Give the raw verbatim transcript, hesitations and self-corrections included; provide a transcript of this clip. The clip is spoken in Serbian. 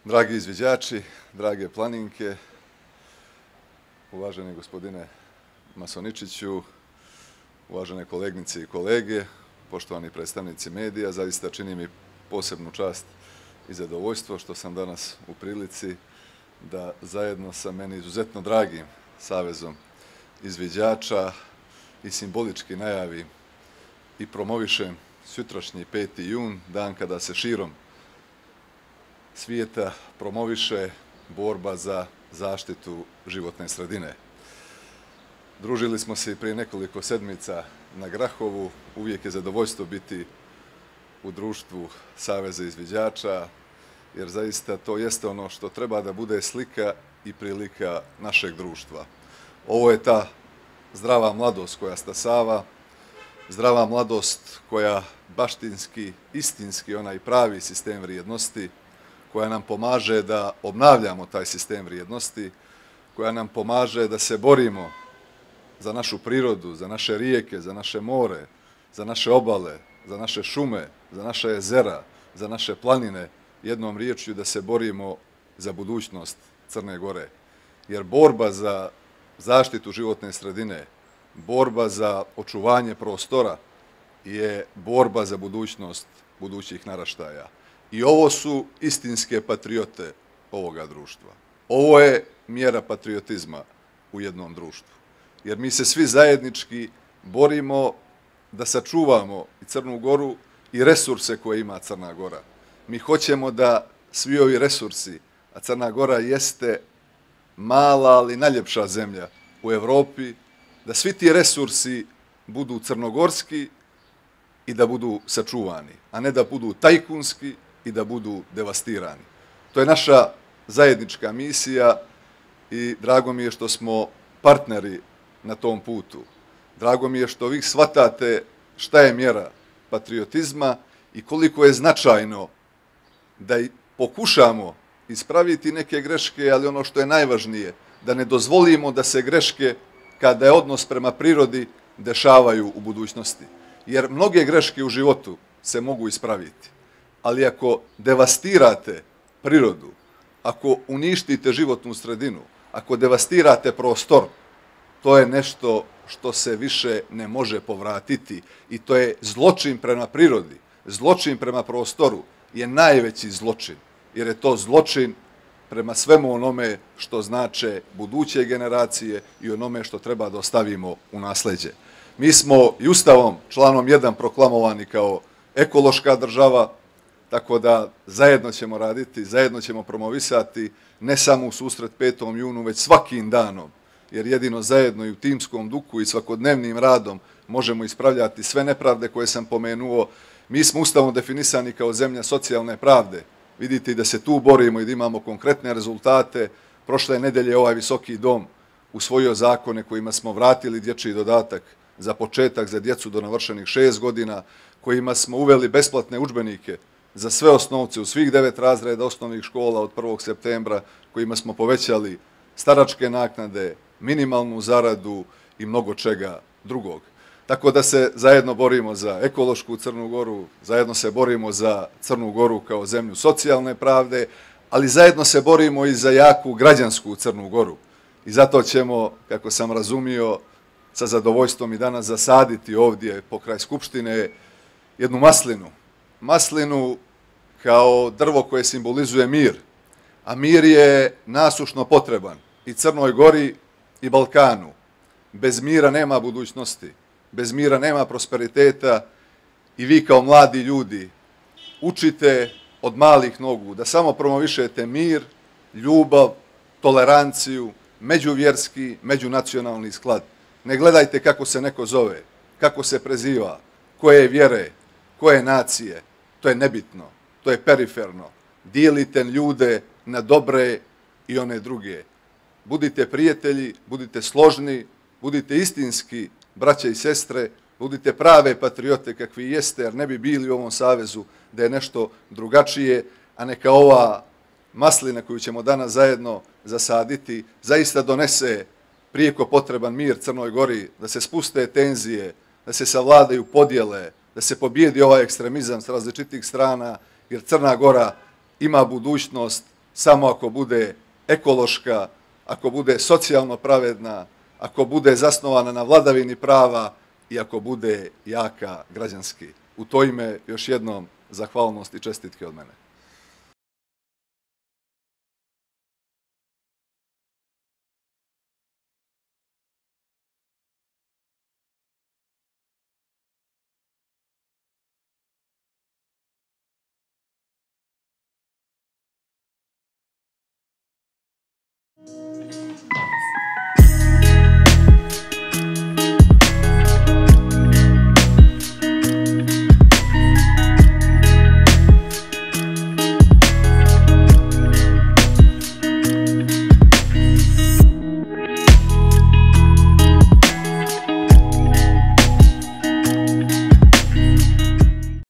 Dragi izviđači, drage planinke, uvaženi gospodine Masoničiću, uvažene kolegnice i kolege, poštovani predstavnici medija, zaista čini mi posebnu čast i zadovoljstvo što sam danas u prilici da zajedno sa meni izuzetno dragim Savezom izviđača i simbolički najavim i promovišem sutrašnji peti jun, dan kada se širom svijeta promoviše borba za zaštitu životne sredine. Družili smo se i prije nekoliko sedmica na Grahovu, uvijek je zadovoljstvo biti u društvu Saveza izviđača, jer zaista to jeste ono što treba da bude slika i prilika našeg društva. Ovo je ta zdrava mladost koja stasava, zdrava mladost koja baštinski, istinski onaj pravi sistem vrijednosti, koja nam pomaže da obnavljamo taj sistem vrijednosti, koja nam pomaže da se borimo za našu prirodu, za naše rijeke, za naše more, za naše obale, za naše šume, za naše jezera, za naše planine, jednom riječju da se borimo za budućnost Crne Gore. Jer borba za zaštitu životne sredine, borba za očuvanje prostora je borba za budućnost budućih naraštaja. I ovo su istinske patriote ovoga društva. Ovo je mjera patriotizma u jednom društvu. Jer mi se svi zajednički borimo da sačuvamo i Crnu Goru i resurse koje ima Crna Gora. Mi hoćemo da svi ovi resursi, a Crna Gora jeste mala, ali najljepša zemlja u Evropi, da svi ti resursi budu crnogorski i da budu sačuvani, a ne da budu tajkunski i da budu devastirani. To je naša zajednička misija i drago mi je što smo partneri na tom putu. Drago mi je što vi shvatate šta je mjera patriotizma i koliko je značajno da pokušamo ispraviti neke greške, ali ono što je najvažnije, da ne dozvolimo da se greške, kada je odnos prema prirodi, dešavaju u budućnosti. Jer mnoge greške u životu se mogu ispraviti. Ali ako devastirate prirodu, ako uništite životnu sredinu, ako devastirate prostor, to je nešto što se više ne može povratiti i to je zločin prema prirodi, zločin prema prostoru je najveći zločin, jer je to zločin prema svemu onome što znače buduće generacije i onome što treba da ostavimo u nasleđe. Mi smo i Ustavom članom jedan proklamovani kao ekološka država, tako da zajedno ćemo raditi, zajedno ćemo promovisati ne samo u susret petom junu, već svakim danom, jer jedino zajedno i u timskom duhu i svakodnevnim radom možemo ispravljati sve nepravde koje sam pomenuo. Mi smo Ustavom definisani kao zemlja socijalne pravde. Vidite da se tu borimo i da imamo konkretne rezultate. Prošle nedelje ovaj visoki dom usvojio zakone kojima smo vratili dječji dodatak za početak za djecu do navršenih šest godina, kojima smo uveli besplatne udžbenike za sve osnovce u svih devet razreda osnovnih škola od prvog septembra, kojima smo povećali staračke naknade, minimalnu zaradu i mnogo čega drugog. Tako da se zajedno borimo za ekološku Crnu Goru, zajedno se borimo za Crnu Goru kao zemlju socijalne pravde, ali zajedno se borimo i za jaku građansku Crnu Goru. I zato ćemo, kako sam razumio, sa zadovoljstvom i danas zasaditi ovdje pokraj Skupštine jednu maslinu. Maslinu kao drvo koje simbolizuje mir, a mir je nasušno potreban i Crnoj Gori i Balkanu. Bez mira nema budućnosti, bez mira nema prosperiteta i vi kao mladi ljudi učite od malih nogu da samo promovišete mir, ljubav, toleranciju, međuvjerski, međunacionalni sklad. Ne gledajte kako se neko zove, kako se preziva, koje je vjere, koje nacije, to je nebitno, to je periferno. Dijelite ljude na dobre i one druge. Budite prijatelji, budite složni, budite istinski braće i sestre, budite prave patriote kakvi jeste, jer ne bi bili u ovom savezu da je nešto drugačije, a neka ova maslina koju ćemo danas zajedno zasaditi zaista donese prijeko potreban mir Crnoj Gori, da se spuste tenzije, da se savladaju podjele, da se pobijedi ovaj ekstremizam s različitih strana, jer Crna Gora ima budućnost samo ako bude ekološka, ako bude socijalno pravedna, ako bude zasnovana na vladavini prava i ako bude jaka građanski. U to ime još jednom zahvalnost i čestitke od mene.